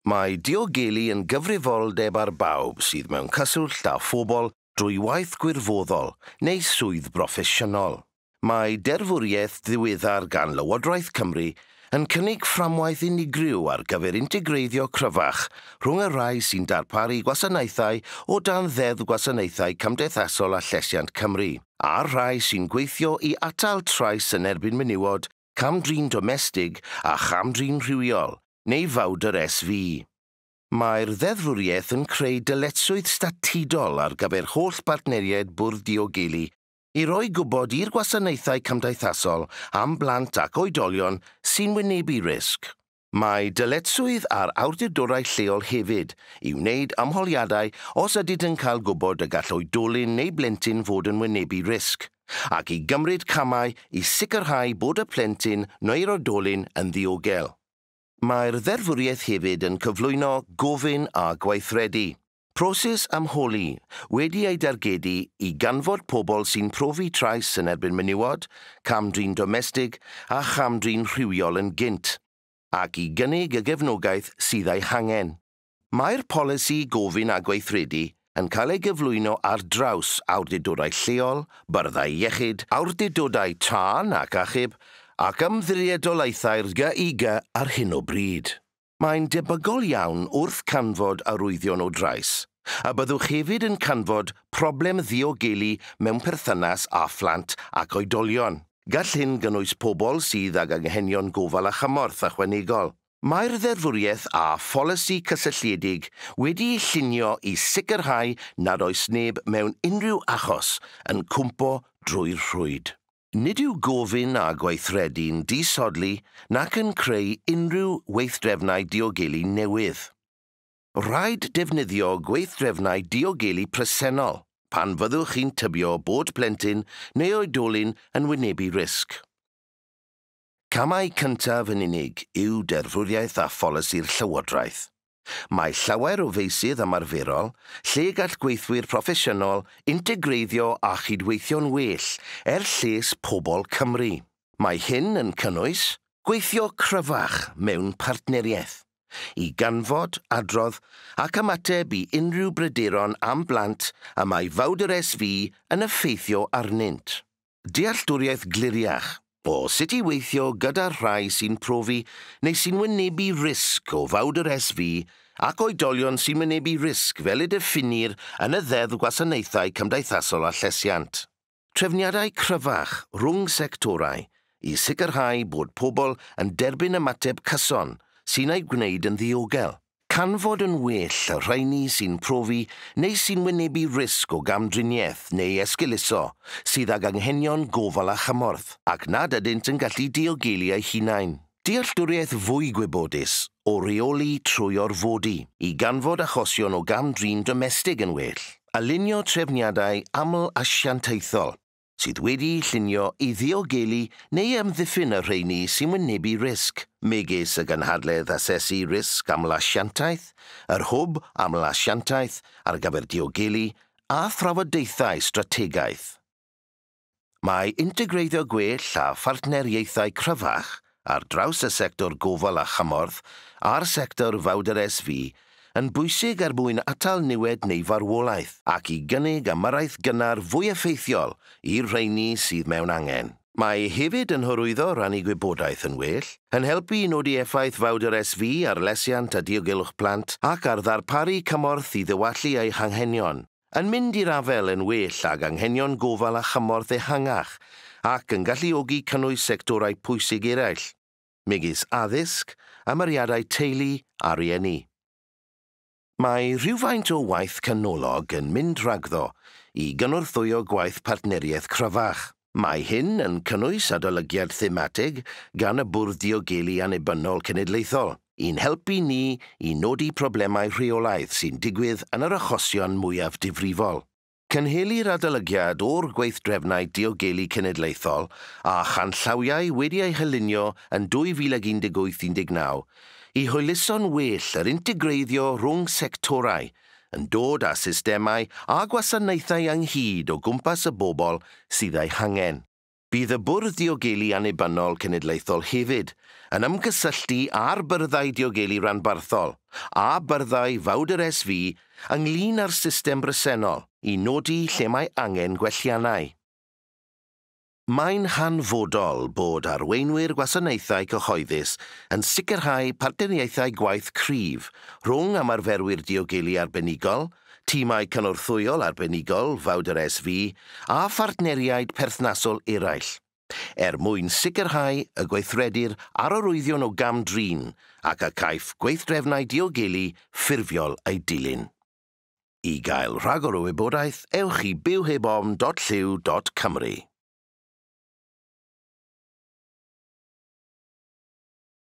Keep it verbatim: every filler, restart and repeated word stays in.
Mae diogelu yn gyfrifoldeb ar bawb sydd mewn cyswllt â phobl drwy waith gwirfoddol neu swydd broffesiynol. Mae derfwriaeth ddiweddar gan Lywodraeth Cymru yn cynnig fframwaith unigryw ar gyfer integreiddio cryfach rhwng y rhai sy'n darparu gwasanaethau o dan Ddeddf Gwasanaethau Cymdeithasol a Llesiant Cymru, a'r rhai sy'n gweithio i atal trais yn erbyn menywod, cam-drin domestig a cham-drin rhywiol, neu fawdr S V. Mae'r ddeddfwriaeth yn creu dyletswydd statudol ar gyfer holl bartneriaid Bwrdd Diogelu i roi gwybod i'r gwasanaethau cymdeithasol am blant ac oedolion sy'n wynebu risg. Mae dyletswydd ar awdurdodau lleol hefyd i wneud ymholiadau os ydynt yn cael gwybod y gall oedolyn neu blentyn fod yn wynebu risg, ac i gymryd camau i sicrhau bod y plentyn neu'r oedolyn yn ddiogel. Mae'r ddeddfwriaeth hefyd yn cyflwyno gofyn a gweithredu. Proses ymholi wedi ei dargedu i ganfod pobl sy'n profi trais yn erbyn menywod, cam-drin domestig a cham-drin rhywiol yn gynt, ac i gynnig y gefnogaeth sydd ei hangen. Mae'r polisi gofyn a gweithredu yn cael ei gyflwyno ar draws awdurdodau lleol, byrddau iechyd, awdurdodau tân ac achub, ac ymddiriedolaethau'r G I G ar hyn o bryd. Mae'n debygol iawn wrth canfod arwyddion o drais, a byddwch hefyd yn canfod problem ddiogelu mewn perthynas â phlant ac oedolion. Gall hyn gynnwys pobl sydd ag anghenion gofal a chymorth ychwanegol. Mae'r ddeddfwriaeth a pholisi cysylltiedig wedi'i llunio i sicrhau nad oes neb mewn unrhyw achos yn cwmpo drwy'r rhwyd. Nid yw gofyn a gweithredu'n disodli nac yn creu unrhyw weithdrefnau diogelu newydd. Rhaid defnyddio gweithdrefnau diogelu presennol pan fyddwch chi'n tybio bod plentyn neu oedolyn yn wynebu risg. Camau cyntaf yn unig yw deddfwriaeth a pholisi'r Llywodraeth. Mae llawer o feysydd ymarferol lle gall gweithwyr proffesiynol integreiddio a chydweithio'n well er lles pobl Cymru. Mae hyn yn cynnwys gweithio cryfach mewn partneriaeth, i ganfod, adrodd ac ymateb i unrhyw bryderon am blant y mae fawdr S V yn effeithio arnynt. Dealltwriaeth gliriach o sut i weithio gyda'r rhai sy'n profi neu sy'n wynebu risg o fawdr S V ac oedolion sy'n wynebu risg fel y diffinir yn y Ddeddf Gwasanaethau Cymdeithasol a Llesiant. Trefniadau cryfach rhwng sectorau i sicrhau bod pobl yn derbyn ymateb cyson sy'n ei gwneud yn ddiogel. Canfod yn well y rheini sy'n profi neu sy'n wynebu risg o gamdriniaeth neu esgeuluso sydd ag anghenion gofal a chymorth ac nad ydynt yn gallu diogelu eu hunain. Dealltwriaeth fwy gwybodus o reoli trwy orfodi i ganfod achosion o gamdrin domestig yn well. Alinio trefniadau aml-asiantaethol sydd wedi'u llunio i ddiogelu neu amddiffyn y rheini sy'n wynebu risg, megis y gynhadledd asesu risg aml-asiantaeth, yr hwb aml-asiantaeth ar gyfer diogelu a thrafodaethau strategaeth. Mae integreiddio gwell a phartneriaethau cryfach ar draws y sector gofal a chymorth a'r sector fawdr S V yn bwysig er mwyn atal niwed neu farwolaeth ac i gynnig ymyrraeth gynnar fwy effeithiol i'r rheini sydd mewn angen. Mae hefyd yn hyrwyddo rannu gwybodaeth yn well, yn helpu i nodi effaith fawdr S V ar lesiant a diogelwch plant ac ar ddarparu cymorth i ddywallu eu hanghenion, yn mynd i'r afael yn well ag anghenion gofal a chymorth ehangach ac yn galluogi cynnwys sectorau pwysig eraill, megis addysg, ymyriadau teulu a rhieni. Mae rhywfaint o waith canolog yn mynd rhagddo i gynorthwyo gwaith partneriaeth cryfach. Mae hyn yn cynnwys adolygiad thematig gan y Bwrdd Diogelu Annibynnol Cenedlaethol i'n helpu ni i nodi problemau rheolaidd sy'n digwydd yn yr achosion mwyaf difrifol. Cynhelir adolygiad o'r gweithdrefnau diogelu cenedlaethol a chanllawiau wedi eu hylunio yn dwy fil ag un deg wyth un deg naw i hwyluso'n well yr integreiddio rhwng sectorau yn dod â systemau a gwasanaethau ynghyd o gwmpas y bobl sydd eu hangen. Bydd y Bwrdd Diogelu Annibynnol Cenedlaethol hefyd yn ymgysylltu â'r byrddau diogelu ranbarthol a byrddau Vawdr S V ynglyn â'r system bresennol i nodi lle mae angen gwelliannau. Mae'n hanfodol bod arweinwyr gwasanaethau cyhoeddus yn sicrhau partneriaethau gwaith cryf rhwng ymarferwyr diogelu arbenigol, tîmau cynorthwyol arbenigol Vawdr S V a phartneriaid perthnasol eraill, er mwyn sicrhau y gweithredir ar arwyddion o gam-drin ac y caiff gweithdrefnau diogelu ffurfiol eu dilyn. I gael rhagor o wybodaeth, ewch i bywhebofn dot llyw dot cymru.